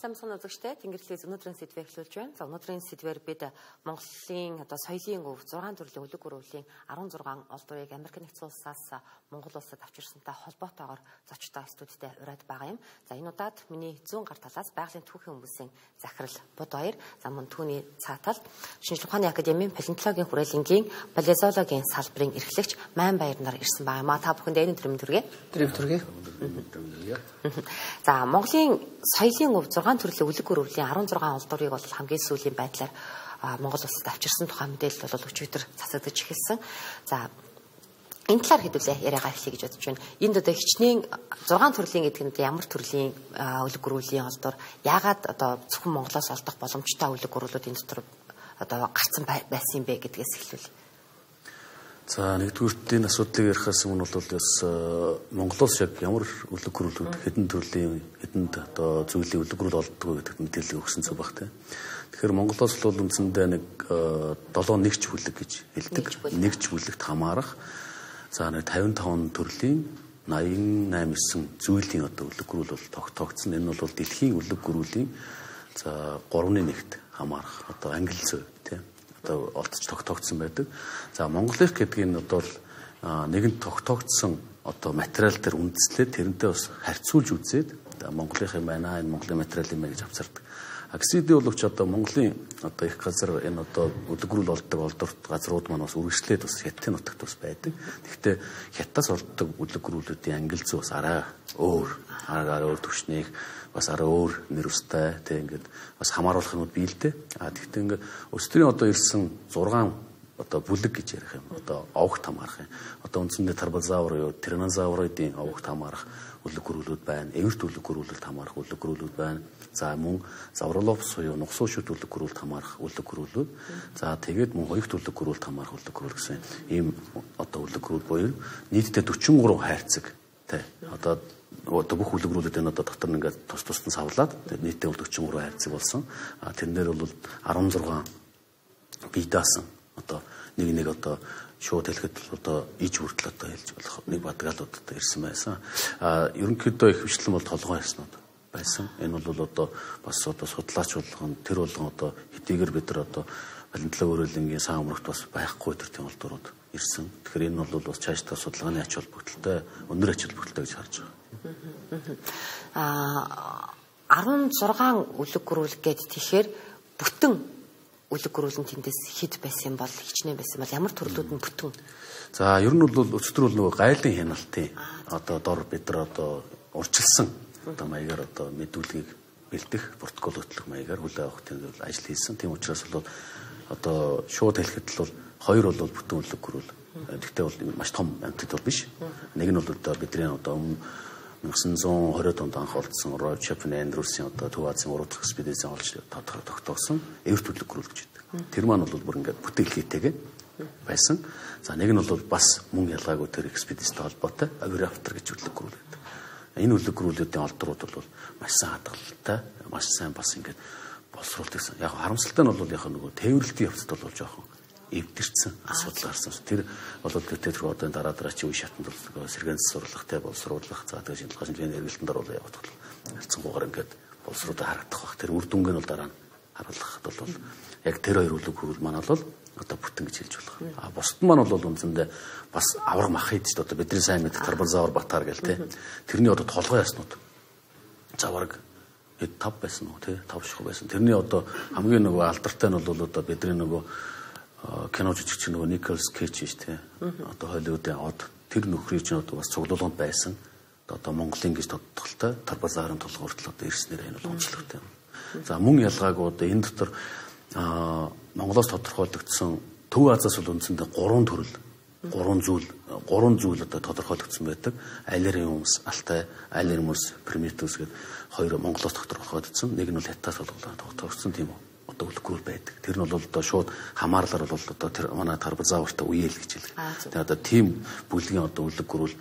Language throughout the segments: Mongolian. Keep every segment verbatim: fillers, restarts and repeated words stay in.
Самсан үзэгчтэй Тэнгэрлэгээс өнөөдрийн сэдвээ эхлүүлж байна. За өнөөдрийн сэдвээр бид Монголын одоо соёлын өв зургаан төрлийн үлэг өрөвлийн арван зургаан олдврыг Америк нэгдсэн улсаас Монгол улсад авчирсантай холбоотойгоор зочтой студидтэй ураад байгаа юм. За энэ удаад миний зүүн гар талаас байгалийн түүхийн хүмүүсийн захирал Буд Баяр, за мөн түүний цааталд Шинжлэх ухааны академийн палеонтологийн хүрээлэнгийн палеозологийн салбарын эрхлэгч Майн Баяр нар ирсэн байгаа. Ма та бүхэнд энэ өдрийн төргий. Өдрийн төргий. За Монголын соёлын өв зургаан төрлийн үлэг өрөвлийн арван зургаан олдврыг бол хамгийн сүүлийн байдлаар Монгол улсад авчирсан тухай мэдээлэл бол өчигдөр цацагдж эхэлсэн. За энэ талаар хэдүүлээ яриагаа эхлэе гэж бодож байна. Энд одоо хичнээн зургаан төрлийн гэдэг нь ямар төрлийн үлэг өрөвлийн олдвор, яагаад одоо зөвхөн Монголоос олдох боломжтой үлэг өрөвлүүд энэ дотор одоо гарцсан байсан юм бэ гэдгээс эхлүүл. За нэгдүгээр энэ асуудлыг ярихаас өмнө бол бас Монголоос яг ямар үлэг өрөвлүүд хэдэн төрлийн хэдэн одоо зүйлийн үлэг өрөвл олддог гэдэг мэдээлэл өгсөн зүг баг тийм. Тэгэхээр Монголоос бол үндсэндээ нэг долоо нэгч бүлэг гэж хэлдэг. Нэгч бүлэгт хамаарах за нэг тавин таван төрлийн наян наймсан зүйлийн одоо үлэг өрөвл бол тогтоогдсон. Энэ бол дэлхийн үлэг өрөвлийн за гуравны нэгт хамаарах одоо англи зөв тийм одоо олдож тогтоогдсон байдаг. За Монголынх гэдэг нь одоо нэгэн тогтоогдсон одоо материал дээр үндэслээд тэрнтэй бас харьцуулж үзээд Монголынх юм байна, энэ Монголын материал юм байна гэж авчирдаг. Аксиди боловч одоо Монголын одоо их газар энэ одоо үлэг өрөвл олддог олдорт газрууд маань бас үргэлжлээд бас хятадын нутагт бас байдаг. Тэгэхдээ хятадаас олддог үлэг өрөвлүүдийн англи зүй бас арай өөр, арай өөр төвшнийг бас арай өөр нэр устай тийм ингээд бас хамааруулах юмуд бий л дээ. А тэгтээ ингээд өстрийн одоо ирсэн зургаан одоо бүлэг гэж ярих юм. Одоо овогт хамаарах юм. Одоо үндсэндээ тарбозавр юу, тиранозаврын овогт хамаарах үлэг өрөвлүүд байна. Эвэрт үлэг өрөвлөлд хамаарах үлэг өрөвлүүд байна. За мөн завролопс буюу нугсуушид үлэг өрөвлөлд хамаарах үлэг өрөвлүүд. За тэгээд мөн хоёрт үлэг өрөвлөлд хамаарах үлэг өрөвл гэсэн ийм одоо үлэг өрөвл буюу нийтдээ дөрвөн гурван хайрцаг тий. Одоо одоо бүх үлэг өрөвлүүдийн одоо дотор нь ингээд тус тусдан савлаад нийтдээ бол дөрвөн гурван хайрцаг болсон. А тэрнээр бол арван зургаан бие даасан одоо нэг нэг одоо шууд хэлэхэд одоо иж хүртэл одоо хэлж болох нэг бадгаалууд одоо ирсэн байсан. А ерөнхийдөө их хвшлэн бол толгой яснууд байсан. Энэ бол одоо бас одоо судлаач болгон тэр болгон одоо хэдийгээр бид нар одоо палеонтологи хүрээлэнгийн сан өмнөгт бас байхгүй тэр тийм олдврууд ирсэн. Тэгэхээр энэ бол бас цаашдаа судалгааны ач холбогдолтой, өндөр ач холбогдолтой гэж харж байгаа. Аа арван зургаан үлэг өрөвл гэдэг тэгэхээр бүтэн үлэг өрөвлөн тэндээс хэд байсан бол хичнээн байсан бол ямар төрлүүд нь бүтэн. За ер нь бол өчтөр бол нөгөө гайлын хяналтын одоо дор бид нар одоо урчилсан одоо маягаар одоо мэдүүлгийг бэлдэх протокол хөтлөх маягаар хүлээн авах тийм ажил хийсэн. Тийм учраас бол одоо шууд хэлэхэд бол хоёр бол бүтэн үлэг өрөвл. Гэхдээ бол маш том амтд бол биш. Нэг нь бол одоо бидний одоо найман зуун хориод онд анх олдсон Рой Шопен Эндрюсийн одоо Төв Азийн урд дахь экспедицийн олж тогтоосон эвэрт үлэг өрөвл гэж байдаг. Тэр маань бол бүр ингээд бүтээлхийтэйгээ байсан. За нэг нь бол бас мөн ялгаагүй тэр экспедицтэй холбоотой авиараптер гэж үлэг өрөвл байдаг. Энэ үлэг өрөвлүүдийн олдрууд бол маш сайн хадгалалтай, маш сайн бас ингээд боловсруулдаг. Яг харамсалтай нь бол яг нөгөө тээвэрлэлтийн явцад бол жоохон эвдэрсэн асуудал гарсан. Тэр бол тэр одоо дараа дараа чи үе шатанд бол сэргээн сурлах те боловсруулах за тэгээд шинжилгээ шинжилгээний эргэлтэнд оруулах явах бол харьцангуйгаар ингээд боловсруудаа харагдах бах. Тэр үр дүнг нь бол дараа нь харуулхад бол яг тэр хоёр үлэг өрөвл маань бол одоо бүтэн гэж хэлж болох. А бусд маань бол үндсэндээ бас авраг мах хийж одоо бидний сайн мэддэг тарбозавр батар гэл те. Тэрний одоо толгой яснууд заварг хэд тав байсан уу те тав ших байсан. Тэрний одоо хамгийн нөгөө алдартай нь бол одоо бидний нөгөө кино жижигч нөгөө Николас Кейж шүү те. Одоо Холливуудын од тэр нөхрийн чинь одоо бас цуглуулганд байсан. Одоо Монголын гэж тодтолтой тарбозаврын толгой хүртэл одоо ирснээр энэ бол онцлогтой. За мөн ялгаагүй одоо энэ дотор Монголоос тодорхойлогдсон Төв Азиас бол үндсэндээ гурван төрөл, гурван зүйл, гурван зүйл одоо тодорхойлогдсон байдаг. Айлерын өмс, Алтай, Айлерын өмс, Примитус гэдэг хоёр Монголоос тодорхойлогдсон. Нэг нь бол Хятадаас тодорхойлогдсон тийм үү. Одоо үлэг өрөвл байдаг. Тэр нь бол одоо шууд хамаарлаар бол одоо тэр манай тарбозавртай үеэл гэж хэлдэг. Тэгээд одоо тийм бүлгийн одоо үлэг өрөвл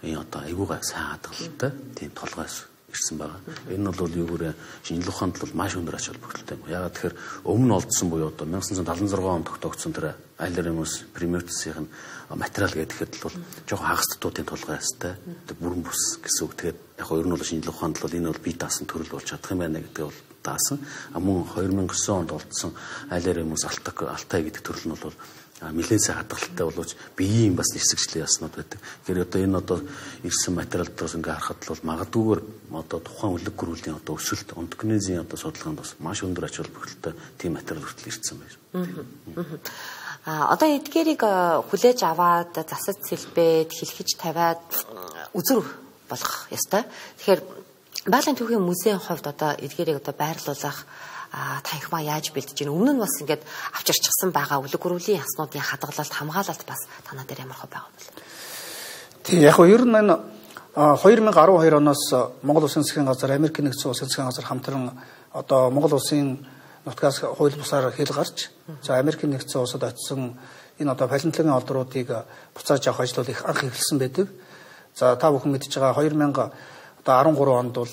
энэ одоо айгуугаа сайн хадгалалтай тийм толгойс ирсэн байгаа. Энэ нь бол юу гэрээ шинжлэх ухаанд бол маш өндөр ач холбогдолтой юм. Яагаад тэгэхээр өмнө олдсон буюу одоо найман санцад седалнын зургаан онд тогтоогдсон тэр Айлеремус Примертисийн материал гэдэг бол жоохон хагас дутуудын тулгай хэвээр тэр бүрэн бус гэсэн үг. Тэгээд яг нь ер нь бол шинжлэх ухаанд бол энэ бол бие даасан төрөл болж чадах юм байна гэдэг бол даасан. А мөн хоёр мянга дев9 онд олдсон Айлеремус Алтай гэдэг төрөл нь бол нэлээд сайн хадгалалтай боловч биеийн бас нисгчлийн яснууд байдаг. Тэгэхээр одоо энэ одоо ирсэн материал доос ингээ харахад бол магадгүйгээр одоо тухайн үлэг гөрүүлийн одоо өсөлт онтогенезийн одоо судалгаанд бас маш өндөр ач холбогдолтой тийм материал хүртэл ирсэн байна. А одоо эдгээрийг хүлээж аваад засаж сэлбээд хэлхэж тавиад үзүр болгох ёстой. Тэгэхээр Байгалийн түүхийн музейн хувьд одоо эдгээрийг одоо байрлуулах танхимаа яаж бэлдэж байна? Өмнө нь бас ингээд авчирчихсан байгаа үлэг гөрүүлийн яснуудын хадгалалт, хамгаалалт бас танаа дээр ямар хөө байгаа юм бэ? Тийм яг нь ер нь энэ хоёр мянга арван хоёр оноос Монгол Улсын засгийн газар, Америкийн нэгдсэн улсын засгийн газар хамтран одоо Монгол Улсын нутгаас хууль бусаар хэл гарч, за Америкийн нэгдсэн улсад очисон энэ одоо палеонтологийн олдруудыг буцааж авах ажлууд их анх эхэлсэн байдаг. За та бүхэн мэдж байгаа хоёр мянга одоо арван гурван онд бол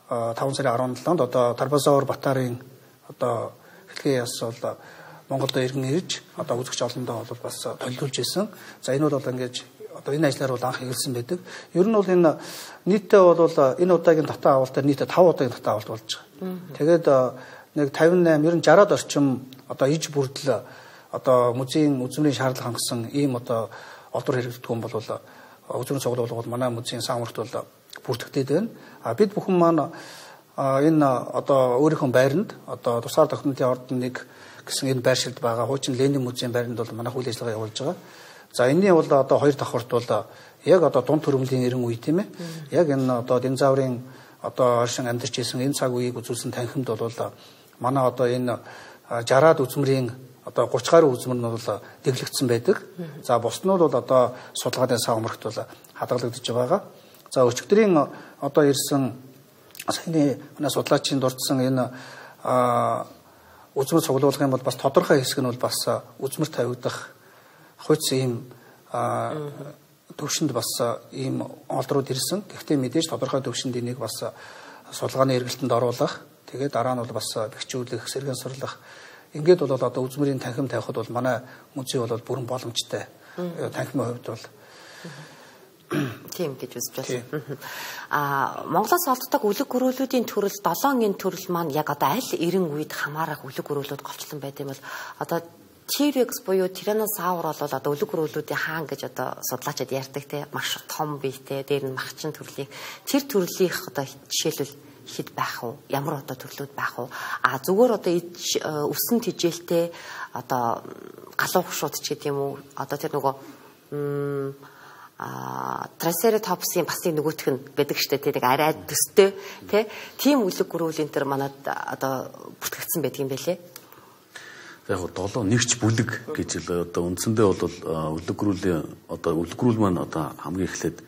таван сарын арван долоонд одоо Тарбазавар Батарын одоо хэлхээ яс бол Монголд иргэн ирж одоо үзэгч олондоо бол бас төлөвлөж исэн. За энэ бол ингээд одоо энэ ажлаар бол анх эхэлсэн байдаг. Ер нь бол энэ нийтдээ бол энэ удаагийн татаа авалтаар нийтдээ таван удаагийн татаа авалт болж байгаа. Тэгээд нэг тавин восемь ер нь шараад орчим одоо иж бүрдэл одоо музейн үзмрийн шаардлага хангасан ийм одоо олдвор хэрэгждэг юм бол үзмрийн цуглуулга бол манай музейн самурт бол бүрдэгдээд байна. А бид бүхэн маань энэ одоо өөрийнхөө байранд одоо тусгаар тогтнолын ордон нэг гэсэн энэ байршилд байгаа хуучин Ленин музейн байранд бол манай хүлээж авалт явуулж байгаа. За энэний бол одоо хоёр давхарт бол яг одоо дунд төрөмлийн эрен үе тийм ээ. Яг энэ одоо динозаврын одоо оршин амьдарч исэн энэ цаг үеийг үзүүлсэн танхимд бол манай одоо энэ жараад үзмрийн одоо гурван гаруй үзмэр нь бол дэглэгдсэн байдаг. За бус нь бол одоо судалгааны савмарт бол хадгалагдаж байгаа. За өчигдрийн одоо ирсэн саяны манай судлаачийн дурдсан энэ үзмэр цуглуулгын бол бас тодорхой хэсэг нь бол бас үзмэр тавигдах хойц ийм төвшөнд бас ийм олдрууд ирсэн. Гэхдээ мэдээж тодорхой төвшөнд энийг бас судалгааны эргэлтэнд оруулах, тэгээд дараа нь бол бас бэхжүүлэх, сэргэн сурлах. Ингээд бол одоо үзмэрийн танхим тавихад бол манай музей бол бүрэн боломжтой. Танхимын хувьд бол тийм гэж үзэж байна. Аа Монголоос олддог үлэг гөрөөлүүдийн төрөл долоонгийн төрөл маань яг одоо аль эрен үед хамаарах үлэг гөрөөлүүд голчлон байт юм бол одоо T-Rex буюу Tyrannosaur бол одоо үлэг гөрөөлүүдийн хаан гэж одоо судлаачид ярьдаг те маш том биетэй дээр нь махчин төрлийн тэр төрлийнх одоо жишээлбэл хэд байх вэ? Ямар одоо төрлүүд байх вэ? А зүгээр одоо өсөн тижээлтэй одоо галуу хушууд ч гэдэг юм уу? Одоо тэр нөгөө а Triceratops-ийн бас нэг нөгөөх нь байдаг штэ тий нэг арай төстэй тий тийм үлэг гөрүүлийн тэр манад одоо бүртгэгдсэн байдаг юм байлээ. Яг гоо долоо нэгч бүлэг гэж л одоо үндсэндээ бол үлэг гөрүүлийн одоо үлэг гөрүүл маань одоо хамгийн эхлээд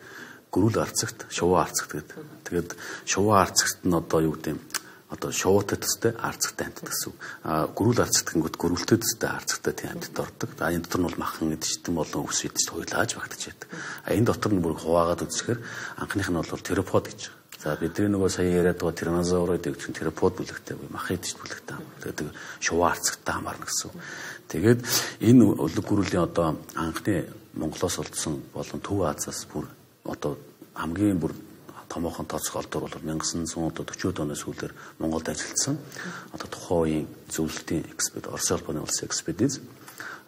гөрүүл арцагт шувуу арцагт гэдэг. Тэгээд шувуу арцагт нь одоо юу гэдэг юм одоо шувуутай төстэй арцагтай амьтад гэсэн. А гөрүүл арцагт гингүүд гөрүүлтэй төстэй арцагтай тийм амьтад ордог. А энэ дотор нь бол махан идэж болон өвс идэж хуйлааж багтаж байдаг. А энэ дотор нь бүр хуваагаад үзэхээр анхных нь бол теропод гэж. За бидний нөгөө сая яриад байгаа тиранозаврууд гэдэг чинь теропод бүлэгтэй мах идэж бүлэгтэй. Тэгээд шувуу арцагтай хамаарна гэсэн. Тэгээд энэ үлэг гөрүүлийн одоо анхны Монголоос олдсон болон Төв Азиас бүр одоо хамгийн бүр томоохон тооцох олдвор бол 천구 сорок оноос сүүлээр Монголд ажилласан. Одоо тухайн үеийн зөвлөлтийн экспедиц, Орос улбаны улсын экспедиц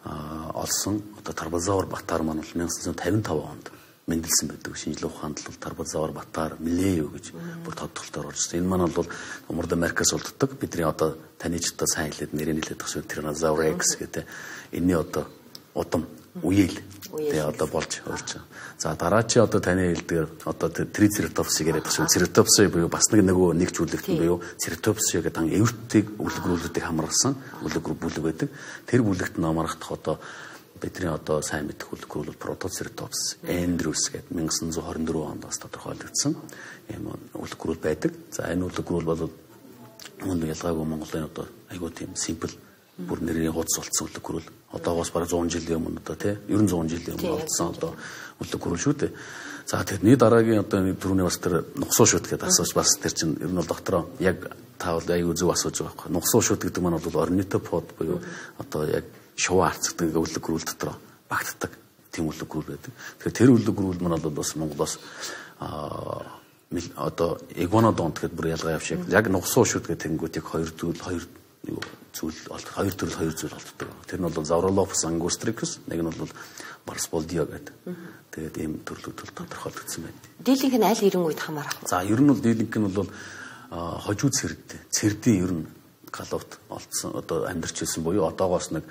олсон одоо Тарбазавар Батар маань бол 천구 пятьдесят онд мэндэлсэн байдаг. Шинжлэх ухаанд бол Тарбазавар Батар Милеев гэж бүр тодтолтоор орж ирсэн. Энэ маань бол Умард Америкаас олддог. Бидний одоо таньжтай сайн хэлээд нэрийг хэлээд байгаа Tyrannosaurus Rex гэдэг энэний одоо удам үеэл тэгээ одоо болж болж байгаа. За дараа чи одоо таны хэлдгээр одоо Triceratops-ыг яриад байгаа шүү. Triceratops буюу бас нэг нөгөө нэг зүйлэгтэн буюу Ceratopsia гэдэг ан эвэртийг үлэг рүүлүүдийг хамарсан үлэг рүү бүлэг байдаг. Тэр бүлэгт нь амархдах одоо бидний одоо сайн мэдэх үлэг рүү Protoceratops Andrews гэдэг 천구 тwenty four онд бас тодорхойлогдсон юм үлэг рүү байдаг. За энэ үлэг рүү бол мөн ялгаагүй Монголын одоо айгуу тийм simple бүр нэрийн хуудас болцсон үлэг гөрөл одоогоос бараг one hundred жилийн өмнө одоо тий ерөн one hundred жилийн өмнө болцсон одоо үлэг гөрөл шүү дээ. За тэрний дараагийн одоо түрүүний бас тэр нугсуу шүт гэдэг асууж бас тэр чинь ер нь бол доктороо яг та бол аюу зөв асууж байгаа байхгүй. Нугсуу шүт гэдэг маань бол орнитопод буюу одоо яг шувуу харцдаг өвлөг гөрүүл дотор багтдаг тийм өвлөг гөрүүл байдаг. Тэгэхээр тэр өвлөг гөрүүл маань бол бас Монголоос аа одоо игуанодонт гэдэг бүр ялгаа явж яг нугсуу шүт гэдэг тэнгүүд яг хоёр зүйл хоёр зүйл хоёр төрөл хоёр зүйл олддог. Тэр нь бол Zaurolophus angustricus, нэг нь бол Barsboldia гэдэг. Тэгээд ийм төрлүүд бол тодорхойлогдсон байна. Дийлэнх нь аль ирэн үед хамаарах вэ? За ер нь бол дийлэнх нь бол хожуу цэрд, цэрдийн ер нь галуут олдсон одоо амьдарч ирсэн буюу одоогоос нэг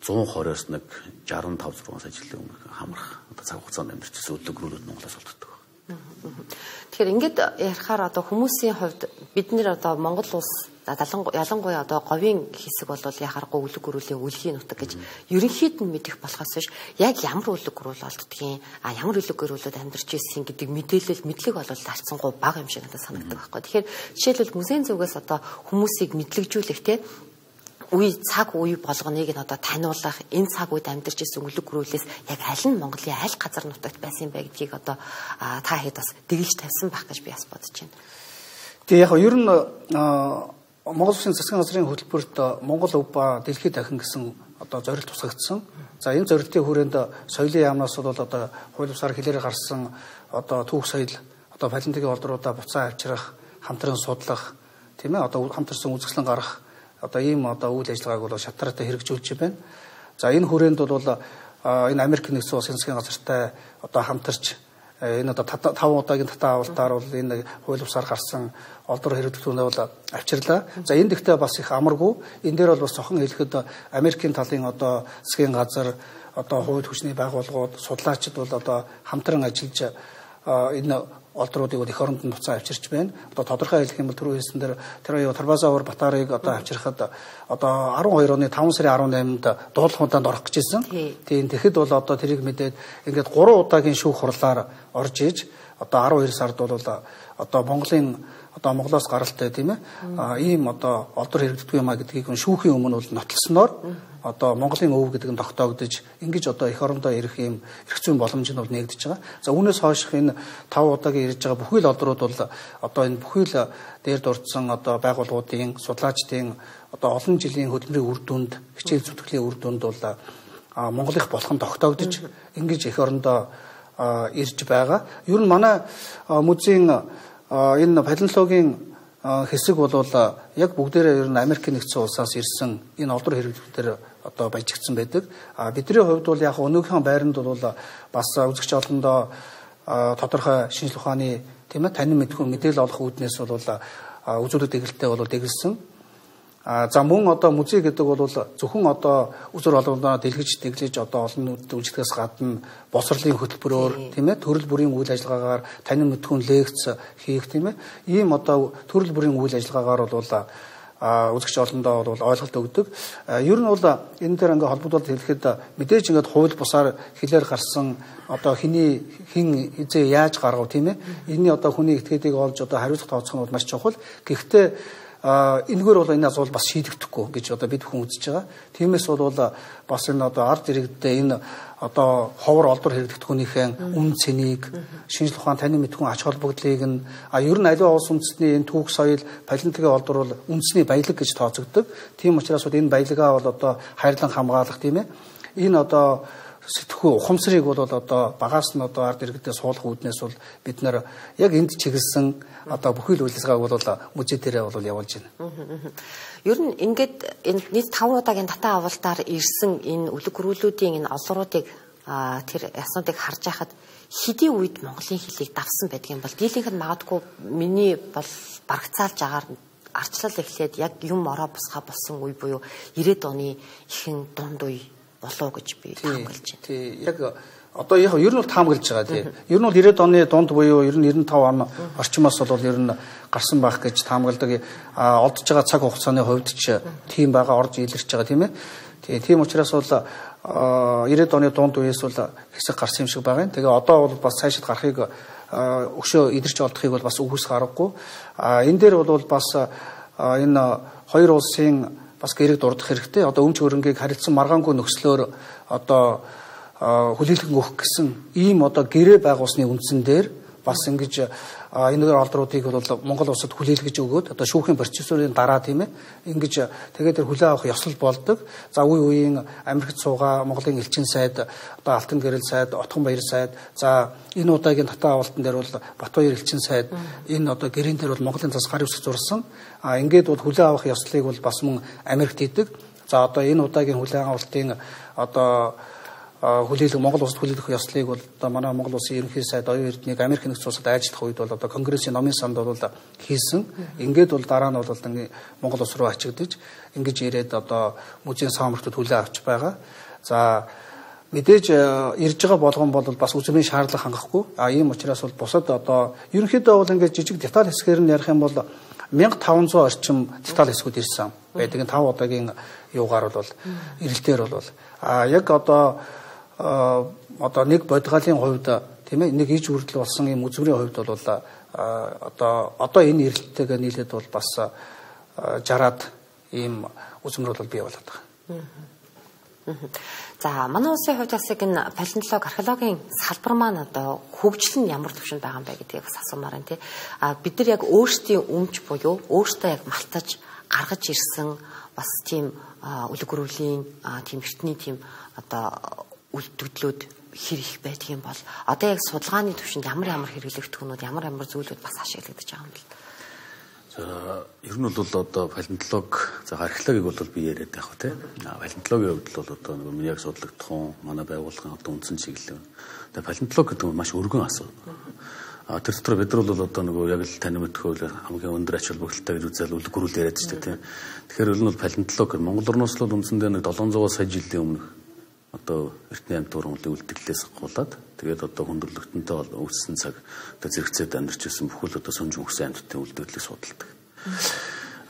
one twenty-оос нэг sixty-five зургаас жилийн өмнө хамрах одоо цаг хугацаанд амьдарч ирсэн өлөг рүүлүүд Монголоос олддог. Тэгэхээр ингээд ярихаар одоо хүмүүсийн хувьд бид нэр одоо Монгол улс ялангуяа одоо говийн хэсэг бол яхааргүй өлөг гөрүүлийн үлгийн нутаг гэж ерөнхийд нь мэдэх болохоос биш яг ямар өлөг гөрүүл олддгийг а ямар өлөг гөрүүлүүд амьдарч ирсэн гэдэг мэдээлэл мэдлэг бол харцсангуй бага юм шиг надад санагддаг байхгүй. Тэгэхээр жишээлбэл музейн зүгээс одоо хүмүүсийг мэдлэгжүүлэх те үе цаг үе болгоныг нь одоо таниулах энэ цаг үед амьдарч ирсэн өлөг гөрүүлээс яг аль нь Монголын аль газар нутагт байсан бэ гэдгийг одоо та хэд бас дэглэж тавьсан байх гэж би бас бодож байна. Тэгээ яг ер нь Монгол Улсын засгийн газрын хөтөлбөрт Монгол өв ба дэлхийд дахин гэсэн одоо зорилт тусгагдсан. За энэ зорилтын хүрээнд соёлын яамнаас бол одоо хууль бусаар хэлээр гарсан одоо түүх соёл одоо палеонтологийн олдруудаа буцаа авчрах, хамтран судлах, тийм ээ одоо хамтарсан үзэсгэлэн гаргах одоо ийм одоо үйл ажиллагааг бол шатартай хэрэгжүүлж байна. За энэ хүрээнд бол энэ Америк нэгдсэн улсын засгийн газартай одоо хамтарч энэ одоо таван удаагийн татан авалтаар бол энэ хууль бусаар гарсан олдор хэрэглэгчүүнээ бол авчирлаа. За энэ дэхтэй бас их амаргүй. Энэ дээр бол бас цохон хэлэхэд Америкийн талын одоо засгийн газар одоо хууль хүчний байгууллагууд судлаачид бол одоо хамтран ажиллаж энэ олдруудыг их оронд нь буцаа авчирч байна. Одоо тодорхой хэлэх юм бол түрүү хэлсэн дээр тэр аюу Тарбазавар Батарыг одоо авчирхад одоо twelve оны five сарын eighty-eight-нд дуулахууданд орох гэж байсан. Тийм тэгэхэд бол одоо тэрийг мэдээд ингээд three удаагийн шүүх хурлаар орж иж одоо twelve сард бол одоо Монголын одоо Монголоос гаралтай тийм ээ ийм одоо олдор хэрэгддэг юм а гэдгийг шүүхийн өмнө бол нотлсноор одоо Монголын өв гэдэг нь тогтоогдож ингэж одоо эх орондоо ирэх юм эрх зүйн боломж нь бол нэгдэж байгаа. За үүнээс хойш энэ five удаагийн ирж байгаа бүхий л олдрууд бол одоо энэ бүхий л дээр дурдсан одоо байгууллагуудын судлаачдын одоо олон жилийн хөдөлмөрийн үр дүнд хичээл зүтгэлийн үр дүнд бол Монгол их болох нь тогтоогдож ингэж эх орондоо ирж байгаа. Ер нь манай музейн энэ палеонтологийн хэсэг бол яг бүгдээрээ ер нь Америк нэгдсэн улсаас ирсэн энэ олдор хэрэглэгчдэр одоо баяжигдсан байдаг. А бидний хувьд бол яг өнөөхөн байранд бол бас үзэгч олондоо тодорхой шинжлэх ухааны тийм ээ танин мэдхүүн мэдээлэл олох үүднээс бол үзүүлэлт дэглэлтэй бол дэглэсэн. А за мөн одоо музей гэдэг бол зөвхөн одоо үзүр олондоо дэлгэж дэглэж одоо олон нийтэд үйлчлэхээс гадна босрлын хөтөлбөрөөр тийм ээ төрөл бүрийн үйл ажиллагаагаар танин мэдхүүн лекц хийх тийм ээ ийм одоо төрөл бүрийн үйл ажиллагаагаар бол үзэгч олондоо бол ойлголт өгдөг. Ер нь бол энэ дээр ингээ холбогдуулалт хэлэхэд мэдээж ингээд хууль бусаар хэлээр гарсан одоо хэний хин хизээ яаж гаргав тийм ээ энэний одоо хүний этгээдийг олж одоо хариуцлага тооцох нь бол маш чухал. Гэхдээ энэгээр бол энэ асуулт бас шийдэгдэхгүй гэж одоо бид хүн үзэж байгаа. Тиймээс бол бас энэ одоо ард иргэдээ энэ одоо ховор олдор хэрэгдэхүүнийхээ үн цэнийг шинжлэх ухаан танин мэдхүүн ач холбогдлыг нь а ер нь аливаа улс үндэстний энэ түүх соёл палеонтологийн олдор бол үндэсний баялаг гэж тооцогддог. Тийм учраас бол энэ баялагаа бол одоо хайрлан хамгаалах тийм ээ. Энэ одоо сэтгхүү ухамсарыг бол одоо багаас нь одоо ард иргэдээ суулгах үүднээс бол бид нэр яг энд чиглэсэн одоо бүхий л үйл ажиллагааг бол музей дээрээ бол явуулж байна. Ер нь ингээд энэ нийт five удаагийн татан авалтаар ирсэн энэ өлөг гөрүүлүүдийн энэ олдруудыг тэр яснуудыг харж байхад хэдийн үед Монголын хэлийг давсан байдаг юм бол дийлэнх нь магадгүй миний бол барагцаалж агаар арчлал эхлээд яг юм ороо бусгаа болсон үе буюу ninety оны ихэнх дунд үе болоо гэж би таамаглаж байна. Тий яг одоо яг ер нь бол таамаглаж байгаа тий. Ер нь бол ninety оны дунд буюу ер нь ninety-five он орчмоос бол ер нь гарсан байх гэж таамагладаг. А олдж байгаа цаг хугацааны хувьд ч тийм байгаа орж илэрч байгаа тийм ээ. Тий тийм учраас бол ninety оны дунд үеэс бол хэсэг гарсан юм шиг байгаа юм. Тэгээ одоо бол бас цаашид гарахыг өшөө идэрч олдохыг бол бас үгүйсэх аргагүй. А энэ дээр бол бас энэ хоёр улсын бас гэрэг дурдах хэрэгтэй. Одоо өмч хөрөнгийг харилцсан маргаангүй нөхцлөөр одоо хүлээлгэн өгөх гэсэн ийм одоо гэрээ байгуулсны үндсэн дээр бас ингэж энэ олдруудыг бол Монгол улсад хүлээлгэж өгөөд одоо шүүхийн процедурын дараа тийм ээ ингэж тэгээд тэр хүлээн авах ёслол болдог. За үе үеийн Америкт суугаа Монголын элчин сайд одоо Алтан гэрэл сайд, Отхон баяр сайд, за энэ удаагийн татаа авалтан дээр бол Батбаяр элчин сайд энэ одоо гэрээн дээр бол Монголын цас гар үсэг зурсан. А ингээд бол хүлээн авах ёслолыг бол бас мөн Америкт хийдэг. За одоо энэ удаагийн хүлээн авалтын одоо хүлээлг Монгол улсад хүлээлгэх ёслолыг бол одоо манай Монгол улсын ерөнхий сайд оюун эрднийг Америк нэгдсэн улсад ажиллах үед бол одоо Конгрессийн номын санд бол хийсэн. Ингээд бол дараа нь бол Монгол улс руу ачигдж ингэж ирээд одоо музейн саамртад хүлээн авч байгаа. За мэдээж ирж байгаа болгон бол бас үзмийн шаардлага хангахгүй. А ийм учраас бол бусад одоо ерөнхийдөө бол ингээд жижиг деталь хэсгээр нь ярих юм бол мянга таван зуун орчим деталь хэсгүүд ирсэн байдаг. Энэ тав удаагийн юугаар бол эрэлтээр бол а яг одоо одоо нэг бодгалын хувьд тийм ээ нэг иж үрдэл болсон юм үзмрийн хувьд бол одоо одоо энэ эрэлттэйгээ нийлээд бол бас жараад ийм үзмэр бол бий болоод байгаа. За манай улсын хувьд бас яг энэ палеонтологи, археологийн салбар маань одоо хөгжил нь ямар төвшөнд байгаа юм бэ гэдгийг бас асуумаар байна тий. А бид нар яг өөрсдийн өмч буюу өөртөө яг малтаж гаргаж ирсэн бас тийм үлэг гөрөвлийн тийм эртний тийм одоо үлдэгдлүүд хэр их байдаг юм бол одоо яг судалгааны төвшөнд ямар ямар хэрэглэгдэхүүнүүд ямар ямар зүйлүүд бас ашиглагдаж байгаа юм бэл. За ер нь бол одоо палеонтологи, за археологиг бол би яриад байх ба тийм. Палеонтологийн хувьд бол одоо нэг яг судлагдах хүн манай байгууллагын одоо үндсэн чиглэл. Тэгээ палеонтологи гэдэг нь маш өргөн асуудал. А тэр дотор бид нар бол одоо нэг яг л тань мэдхөөл хамгийн өндөр ач холбогдолтой гэж үзэл үлэг гөрүүл яриад ч тийм. Тэгэхээр ер нь бол палеонтологи Монгол орноос л үндсэндээ нэг долоон зуун сая жилийн өмнөх одоо эртний амьд туурмын үлдэгдлээс гулаад тэгээд одоо хүндрэлтэнтэй үүссэн цаг одоо зэрэгцээд амьдарч ирсэн бүхэл одоо сүнж өнгөрсөн амьдтын үлдэгдлийг судалдаг.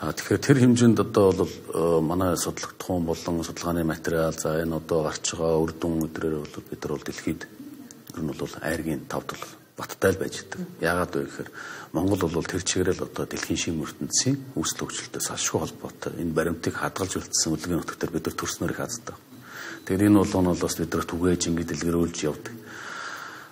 А тэгэхээр тэр хэмжээнд одоо бол манай судлагдах хүн болон судалгааны материал за энэ одоо гарч байгаа үр дүн өдрөөр бол бид нар бол дэлхийд ер нь бол айргийн тав тал баттай л байж байгаа. Яагаад вэ гэхээр Монгол бол тэр чигээрэл одоо дэлхийн шим ертөнцийн үүсэл хөгжилтөөс ашгүй холбоотой энэ баримтыг хадгалж үлдсэн үлгийн нутгаар бид нар төрснөөр их хаздаг. Тэгэхээр энэ бол нь бас бид нар түгээж ингэ дэлгэрүүлж явдаг.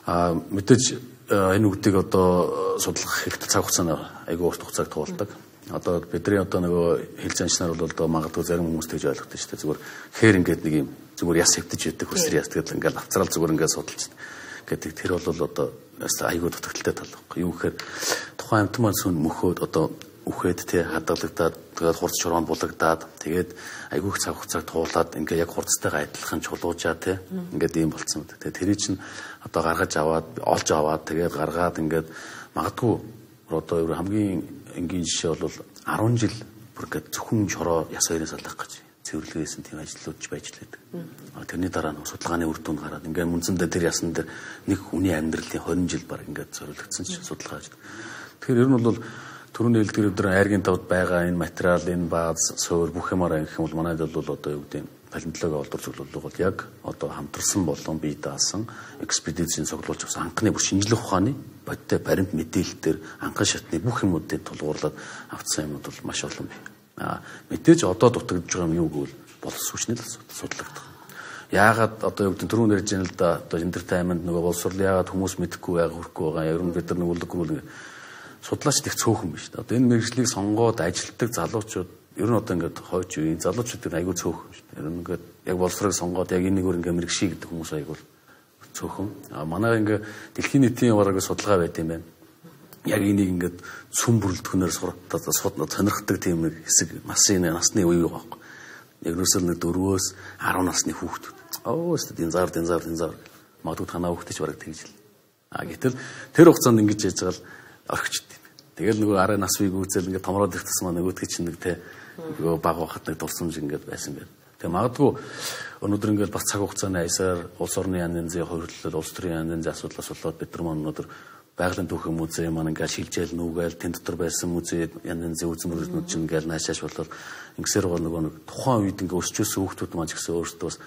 А мэдээж энэ үгдийг одоо судлах хэрэгтэй цаг хугацаанд айгүй урт хугацааг туулдаг. Одоо бидний одоо нөгөө хэл занчнаар бол одоо магадгүй зарим хүмүүс тэгж ойлгохдаг шүү дээ. Зүгээр хээр ингээд нэг юм зүгээр яс хэвдэж яддаг хөсөр яс тэгэл ингээд авцраал зүгээр ингээд судалж гэдэг. Тэр бол одоо айгүй дутагдaltaй тал байхгүй. Юу гэхээр тухайн амьтан маань сүн мөхөөд одоо үхээд тий хадгалагдаад тэгээд хурц шороонд булагдаад тэгээд айгүйх цаг хугацааг туулаад ингээ яг хурцтайгаа адилхан чулуужаа тий ингээд ийм болцсон. Тэгээд тэрий чинь одоо гаргаж аваад олж аваад тэгээд гаргаад ингээд магадгүй одоо ер хамгийн энгийн жишээ бол арван жил бүр ингээд зөвхөн шороо яс хоёрын салах гэж цэвэрлэгээсэн тийм ажлууд ч байж лээд. Тэрний дараа нь судалгааны үр дүн гараад ингээд мөнцөндөө тэр ясан дээр нэг хүний амьдралын хорин жил баг ингээд зориулагдсан ч судалгаа хийж. Тэгэхээр ер нь бол түрүүний хэлдгээр өдөр айргийн тавд байгаа энэ материал, энэ бааз, суур бүх юмараа гэх юм бол манайд бол одоо юу гэдэг нь палеонтологи олдор цуглуулга бол яг одоо хамтарсан болон бие даасан экспедицийн цуглуулж авсан анхны бүр шинжлэх ухааны бодтой баримт мэдээлэлээр анхан шатны бүх юмуудыг тулгуурлаад авцсан юмуд бол маш олон бий. А мэдээж одоо дутагдж байгаа юм юу гэвэл боловсруучны л судлагдах. Яагаад одоо юу гэдэг түрүүн ярьж байна л да одоо эндэртэй айманд нөгөө боловсрол яагаад хүмүүс мэдэхгүй байгаа хүрхгүй байгаа ер нь бид нар нэг үлгэрүүл судлаач их цөөхөн биш. Одоо энэ мэргэжлийг сонгоод ажилтдаг залуучууд ер нь одоо ингээд хойч үеийн залуучууд айгүй цөөхөн шүү дээ. Ер нь ингээд яг боловсрыг сонгоод яг энэгээр ингээд мэргэший гэдэг хүмүүс айгүй цөөхөн. А манай ингээд дэлхийн нийтийн бараг судалгаа байт юм байна. Яг энийг ингээд сүм бүрэлдэхүүнээр суртаад сонирхдаг тийм нэг хэсэг масын насны үе байгаа байхгүй. Яг нүсэл нэг дөрвөөс арван насны хүүхдүүд. Оо өстөд энэ зар энэ зар энэ зар магадгүй танаа хүүхдэж бараг тэгж л. А гэтэл тэр хугацаанд ингэж яаж байгаа л орхичд. Тэгэл нөгөө арай нас вийг үзэл ингээд томроод ирсэн маань нөгөөдгөө чинь нэг те нөгөө баг бахад нэг дурсамж ингээд байсан гэдэг. Тэгээ магадгүй өнөөдөр ингээд бас цаг хугацааны аясаар улс орны янз янзын хувьрлал, улс төрийн янз янзын асуудлаас болоод бид нар маань өнөөдөр байгалийн түүхийн музей маань ингээд шилжээл нүгээл тэн дотор байсан музей янз янзын үзмөрнүүд чинь ингээд наашааш болоод ингэсээр гоо нөгөө нэг тухайн үед ингээд өсчөөсөн хүүхдүүд маань ч гэсэн өөрсдөө бас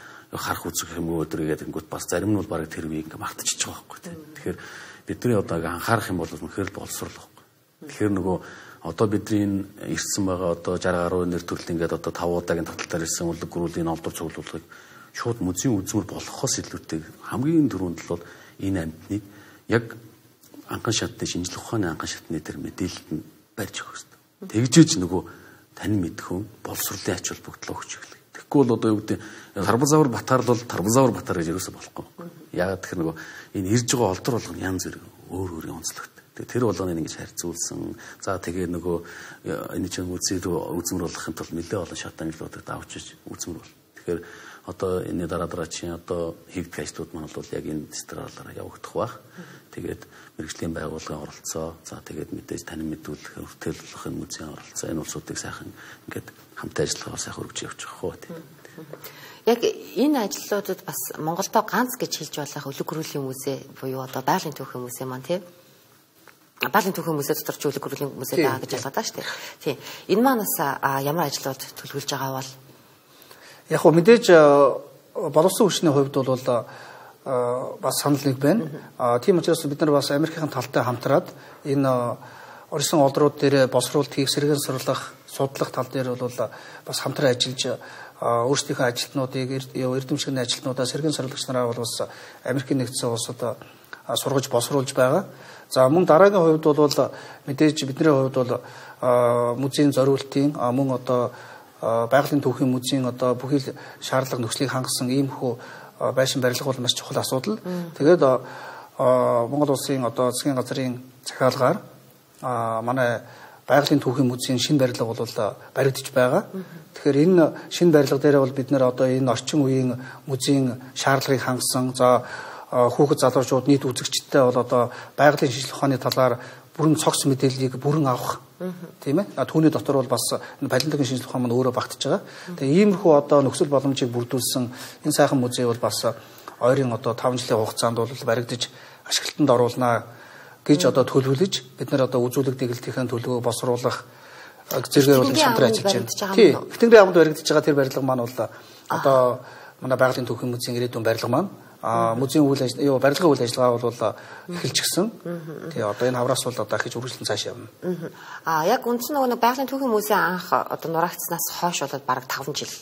харах үзэх юм өдөр гэдэг ингээд бас зарим нь бол бараг тэр үеийг ингээд мартчихж байгаа байхгүй те. Тэгэхээр бидний одоо анхаарах юм бол үнэхээр л боловсрол байхгүй. Тэгэхээр нөгөө одоо бидний ирсэн байгаа одоо шарга гаруй нэр төрөл ингээд одоо тав удаагийн таталтаар ирсэн үлэг гөрүүлийн олдор цуглуулгыг шууд музейн үзмэр болохоос илүүтэй хамгийн түрүүнд бол энэ амьтныг яг анхан шатны шинжлэх ухааны анхан шатны дээр мэдээлэлд нь барьж өгөх хэрэгтэй. Тэгжээж нөгөө тань мэдхүн боловсруулалтын ач холбогдлоо өгч эхлэх. Тэгэхгүй бол одоо юу гэдэг Тарбазавар Батар бол Тарбазавар Батар гэж юусоо болохгүй. Яагаад тэгэхээр нөгөө энэ ирж байгаа олдор болгоно янз бүр өөр өөрийн онцлогтой. Тэгээ тэр болгоныг ингэж харьцуулсан. За тэгээ нөгөө энэ чинь үзээ үзмэр болгохын тулд нэлээд олон шат ангиллуудад авчиж үзмэр бол. Тэгэхээр одоо энэ дараа дараа чинь одоо хийгдэх ажлууд маань бол яг энэ дистралаараа явагдах байх. Тэгээд мэрэгжлийн байгууллагын оролцоо, за тэгээд мэдээж танин мэдүүлэх, хүртэл болгохын музейн оролцоо энэ улсуудыг сайхан ингээд хамтаа ажиллагаа сайхан өргөж явж байгаа хөө тийм. Яг энэ ажлуудад бас Монголдо ганц гэж хэлж болох өлөг гөрүүлийн музей буюу одоо байгалийн түүхийн музей маань тийм. Байгалийн түүхийн музей дотор ч өлөг гөрүүлийн музей байгаа гэж ялгаад байгаа шүү дээ. Тийм. Энэ маань бас ямар ажлууд төлөвлөж байгаа бол яг хөө мэдээж боловсон хүчний хувьд бол бас санал нэг байна. А тийм учраас бид нар бас Америкийн талтай хамтраад энэ орчин олдрууд дээр боловсруулалт хийх, сэргээн сурлах, судлах тал дээр бол бас хамтран ажиллаж өөрсдийнхөө ажилтнуудыг эрдэмшигний ажилтнуудаа сэргээн сурлагч нараа бол бас Америкийн нэгдсэн улсад сургаж боловсруулж байгаа. За мөн дараагийн хувьд бол мэдээж бидний хувьд бол музейн зориултын мөн одоо байгалийн түүхийн музейн одоо бүхий л шаардлага нөхцөлийг хангасан иймэрхүү байшин барилга бол маш чухал асуудал. Тэгээд Монгол улсын одоо засгийн газрын захиалгаар манай байгалийн түүхийн музейн шинэ барилга бол баригдаж байгаа. Тэгэхээр энэ шинэ барилга дээр бол бид нэр одоо энэ орчин үеийн музейн шаардлагыг хангасан за хүүхэд залуучууд нийт үзэгчдтэй бол одоо байгалийн шинжилгээ ухааны талаар бүрэн цогц мэдээллийг бүрэн авах тийм ээ. Түүний дотор бол бас энэ палеонтологийн шинжилгээ ухаан маань өөрөө багтаж байгаа. Тэгээ иймэрхүү одоо нөхцөл боломжийг бүрдүүлсэн энэ сайхан музей бол бас ойрын одоо таван жилийн хугацаанд бол баригдаж ашиглалтанд оруулнаа гэж одоо төлөвлөж бид нар одоо үзүүлэг дэглэлтийн төлөвөө босруулах зэрэгээр бол хамтран ажиллаж байна. Тийм. Ихтэнгэрийн амд баригдаж байгаа тэр барилга маань бол одоо манай байгалийн түүхийн музейн ирээдүйн барилга маань а музейн үйл ажиллагаа барилгын үйл ажиллагаа бол эхэлчихсэн. Тэгээ одоо энэ хавраас бол одоо хийж үргэлжлэн цааш явна. А яг үндсэн нөгөө байгалийн түүхийн музей анх одоо нураагцснаас хойш болоод бараг таван жил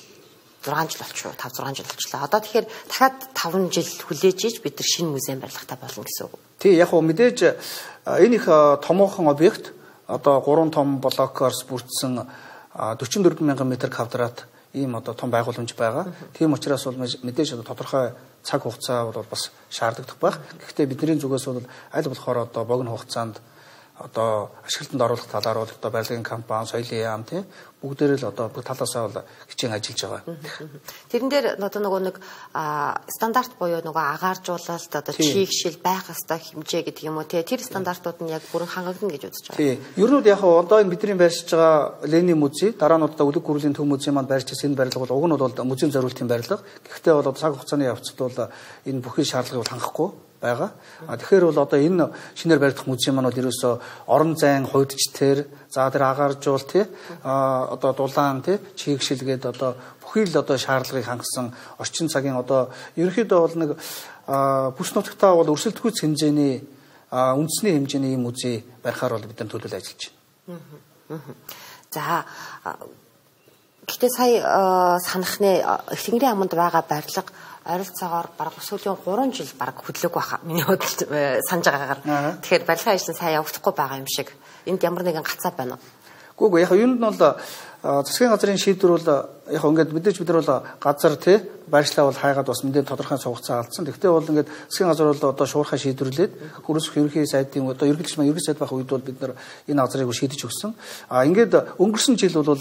зургаан жил болчихоо таван зургаан жил болчихлоо. Одоо тэгэхээр дахиад таван жил хүлээж иж бид нар шинэ музейн барилгатай болно гэсэн үг. Тий яг хөө мэдээж энэ их томоохон объект одоо гурван том блокоорс бүрдсэн дөрвөн дөрвөн мянган метр квадрат ийм одоо том байгууламж байгаа. Тийм учраас бол мэдээж одоо тодорхой цаг хугацаа бол бас шаардлагатай байх. Гэхдээ бидний зүгээс бол аль болохоор одоо богино хугацаанд одоо ашиглалтанд оруулах талаар бол одоо барилгын компани, соёлын яам тийм бүгдээр л одоо бүх талаасаа бол хичээн ажиллаж байгаа. Тэрэн дээр одоо нөгөө нэг стандарт буюу нөгөө агааржуулалт одоо чийгшил байх ёстой хэмжээ гэдэг юм уу тий тэр стандартууд нь яг бүрэн хангагдана гэж үзэж байгаа. Тий. Ер нь яг одоо энэ бидний барьж байгаа Ленин музей дараа нь одоо өлөг гүрлийн төв музей маань барьж ирсэн энэ барилга бол уг нь бол музейн зориултын барилга. Гэхдээ бол цаг хугацааны явцад бол энэ бүхий шаардлагыг хангахгүй байгаа. А тэгэхээр бол одоо энэ шинээр баригдах музей маань бол ерөөсөө орон зайн хувьдчтэр за тэр агааржуул тий а одоо дулаан тий чийгшилгээд одоо бүхий л одоо шаардлагыг хангасан орчин цагийн одоо ерөнхийдөө бол нэг бүс нутагтаа бол өрсөлдөхүйц хэмжээний үндэсний хэмжээний музей барихаар бол бид нар төлөвлөж ажиллаж байна. За гэхдээ сая санахны Ихтэнгэрийн аманд байгаа барилга ойролцоогоор бараг сүүлийн гурван жил бараг хөдлөөг байхаа миний бодлоор санаж байгаагаар. Тэгэхээр барилгын ажил нь сайн явагдахгүй байгаа юм шиг. Энд ямар нэгэн гацаа байна уу? Гүг яг юунд нь бол засгийн газрын шийдвэр бол яг ингээд мэдээж бид нар бол газар тий байршлаа бол хайгаад бас мэдээ тодорхой хугацаа алдсан. Гэхдээ бол ингээд засгийн газар бол одоо шуурхай шийдвэрлээд хөрөсөх ерөнхий сайдын одоо ерөнхийлөгч маань ерөнхий сайд байх үед бол бид нар энэ газрыг шийдэж өгсөн. А ингээд өнгөрсөн жил бол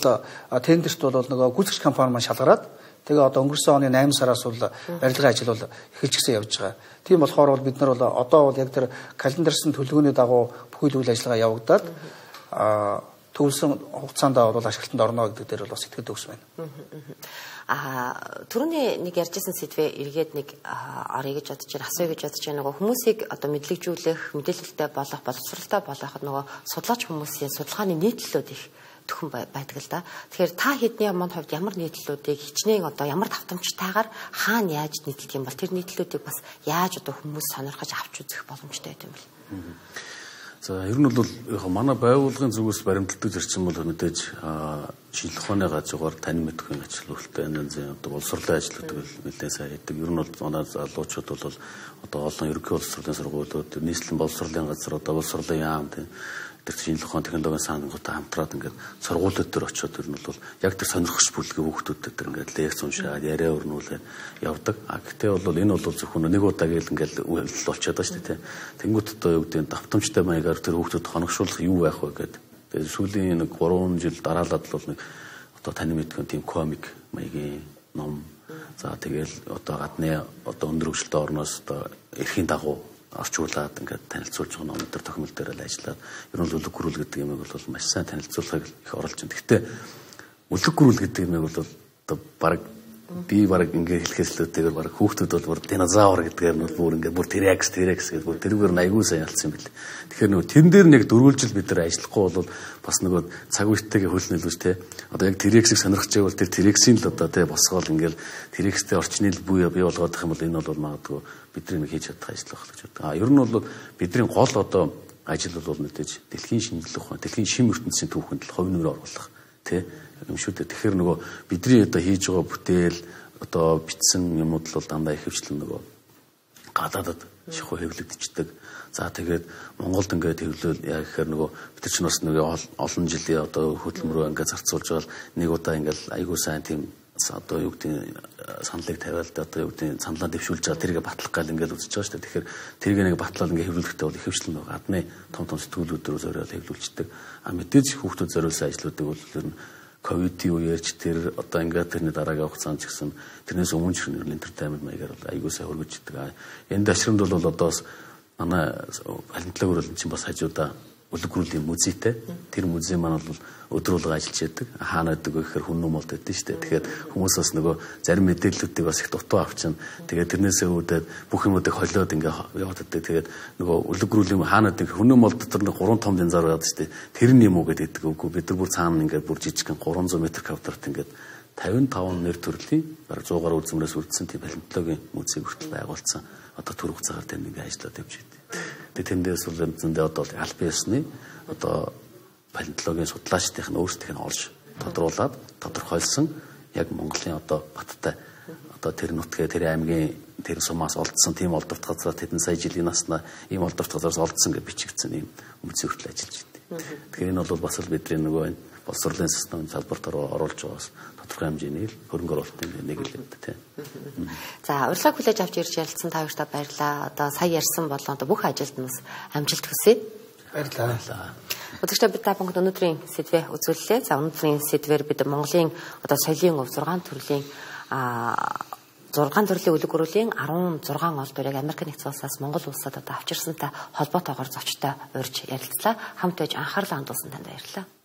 тендерт бол нөгөө гүйцэтгэгч компани маань шалгараад тэгээ одоо өнгөрсөн оны найман сараас бол барилгын ажил бол эхэлчихсэн явж байгаа. Тийм болохоор бол бид нар бол одоо бол яг тэр календарсан төлөвлөгөөний дагуу бүхий л үйл ажиллагаа явагдаад а төвлөсөн хугацаанд бол ашиглалтанд орно гэдэг дээр бол бас итгэл төгс байна. Аа түрүүний нэг ярьжсэн сэдвээ эргээд нэг орё гэж бодож байна, асууя гэж бодож байна. Нөгөө хүмүүсийг одоо мэдлэгжүүлэх, мэдээлэлтэй болох, боловсралтай болгоход нөгөө судлаач хүмүүсийн судалгааны нийтлэлүүд их төхөн байдаг л да. Тэгэхээр та хэдний аманд хувьд ямар нийтлэлүүдийг хичнээн одоо ямар давтамжтайгаар хаана яаж нийтлэх юм бол тэр нийтлэлүүдийг бас яаж одоо хүмүүс сонирхож авч үзэх боломжтой байт юм бэл. За ер нь бол яг манай байгууллагын зүгээс баримтлагдаг зарчим бол мэдээж шинжлэх ухааны гажуугаар тань мэдхийн ажилуулалттай энэ одоо боловсролын ажлуудыг нэлээд сайн хийдэг. Ер нь бол манай залуучууд бол одоо олон ерөнхий боловсролын сургуулиуд, нийслэлийн боловсролын газар, одоо боловсролын яам тийм тэр шинжлэх ухааны технологийн санангуудтай хамтраад ингээд сургуулиуд төр очиод ер нь бол яг тэр сонирхогч бүлгийн хүүхдүүдэд тэр ингээд лекц уншаад яриа өрнүүлээд явдаг. А гэхдээ бол энэ бол зөвхөн нэг удаа гээл ингээд үйлдэл болчиход байгаа шүү дээ. Тэнгүүт одоо юу гэдэг нь давтамжтай маягаар тэр хүүхдүүд хоногшуулах юу байх вэ гэдэг. Тэгээд сүүлийн нэг гурван жил дараалаад бол нэг одоо таны мэдгэн тийм комик маягийн ном. За тэгэл одоо гадны одоо өндөр хөгжилтэй орноос одоо эрхийн дагуу орчуулад ингээд танилцуулж байгаа ном төр тохиомл дээр л ажиллаад ер нь үлэг гүрүүл гэдэг юм бол маш сайн танилцуулахыг их оруулж байна. Гэхдээ үлэг гүрүүл гэдэг юм бол одоо баг би баг ингээд хэлэхээс л үтэйгээр баг хүүхдүүд бол бүр динозавр гэдгээр нь бүр ингээд бүр T-Rex T-Rex гэдэг бүр тэрүүгээр айгүй сайн ялцсан юм бэл. Тэгэхээр нөгөө тэн дээр нэг дөрвөлжил бид нар ажиллахгүй бол бас нөгөө цаг үетэйгээ хөлнөлвч те одоо яг T-Rex-ийг сонирхож байвал тэр T-Rex-ийн л одоо те босгоол ингээд T-Rex-тэй орчны л бий бий болгоод их юм бол энэ бол магадгүй бидний нэг хийж чадах ажил байх гэж боддог. А ер нь бол бидний гол одоо ажил бол мэдээж дэлхийн шинжлэх ухаан, дэлхийн шим ертөнцийн түүхэнд л хувь нэмрээ оруулах тий юм шүү дээ. Тэгэхээр нөгөө бидний одоо хийж байгаа бүтээл одоо бичсэн юмуд л бол дандаа их хвчлэн нөгөө гадаадад шихуу хэвлэгдчихдэг. За тэгээд Монголд ингээд хэвлэл яг гэхээр нөгөө бид чинь бас нөгөө олон жилийн одоо хөдөлмөрөө ингээд зарцуулж байгаа нэг удаа ингээд айгуу сайн тийм одоо юу гэдэг саналыг тавиал да одоо юу гэдэг саналаа дэвшүүлж байгаа тэргээ батлах гал ингээд үзэж байгаа шүү дээ. Тэгэхээр тэргээ нэг батлал ингээд хэвлүүлэхдээ бол их хвчлэн байгаа. Гадны том том сэтгүүлүүдээр зориод хэвлүүлждэг. А мэдээж хүүхдүүд зориулсан ажлуудыг бол ер нь ковидын үеэрч тэр одоо ингээд тэрний дараагийн хугацаанд ч гэсэн тэрнээс өмнө ч нэр энтертайнмент маягаар бол аягүй сайн хөргөждөг. Энэ дашрамд бол одоо бас манай палеонтологи хөрөлн чинь бас хажуудаа үлэг гүрүүлийн музейтэй. Тэр музей маань бол өдөр болго ажиллаж яадаг. Хаана байдаг вэ гэхээр хүн нумолд байдаг шүү дээ. Тэгэхээр хүмүүс бас нөгөө зарим мэдээллүүдийг бас их дутуу авчин. Тэгээд тэрнээсээ үүдээд бүх юмудыг холиод ингээ яваад байдаг. Тэгээд нөгөө үлэг гүрүүлийн хаана байдаг хүн нумолд дотор нэг гурван том динзар байдаг шүү дээ. Тэр нь юм уу гэдэг үгүй. Бид нар бүр цаана ингээ бүр жижигхэн гурван зуун метр квадрат ингээ тавин таван нэр төрлийн бараг сто гаруй үзмрээс үрдсэн тийм палеонтологийн музей хүртэл байгуулсан. Одоо түрэг цагаар тэнд ингээ ажиллаад явж байна. Тэгээд тэндээс бол зөндөө одоо албан ёсны одоо палеонтологийн судлаачдын нь өөрсдийнх нь олж тодруулаад тодорхойлсон яг Монголын одоо баттай одоо тэр нутгээ тэр аймгийн тэр сумаас олдсон тийм олдворт газар тэдэн сая жилийн наснаа ийм олдворт газараас олдсон гэж бичигдсэн ийм музей хүртэл ажиллаж байна. Тэгэхээр энэ бол бас л бидний нөгөө боловсролын системийн салбарт оруулж байгаас тодорхой хэмжээний хөрөнгө оруулалтын нэг л юм тийм. За урилгыг хүлээж авч ирж ярилцсан та хоёртаа баярлалаа. Одоо сая ярьсан болон одоо бүх ажилд нь бас амжилт хүсье. Баярлалаа. Өдөртөө бид та бүхэнд өнөөдрийн сэдвээ үзүүллээ. За өнөөдрийн сэдвээр бид Монголын одоо соёлын өв зургаан төрлийн а зургаан төрлийн үлэг гүрүүлийн арван зургаан ол дүрийг Америк нэгдсэн улсаас Монгол улсад одоо авчирсантай холбоотойгоор зочтой урьж ярилцлаа. Хамт байж анхаарлаа хандуулсан танд баярлалаа.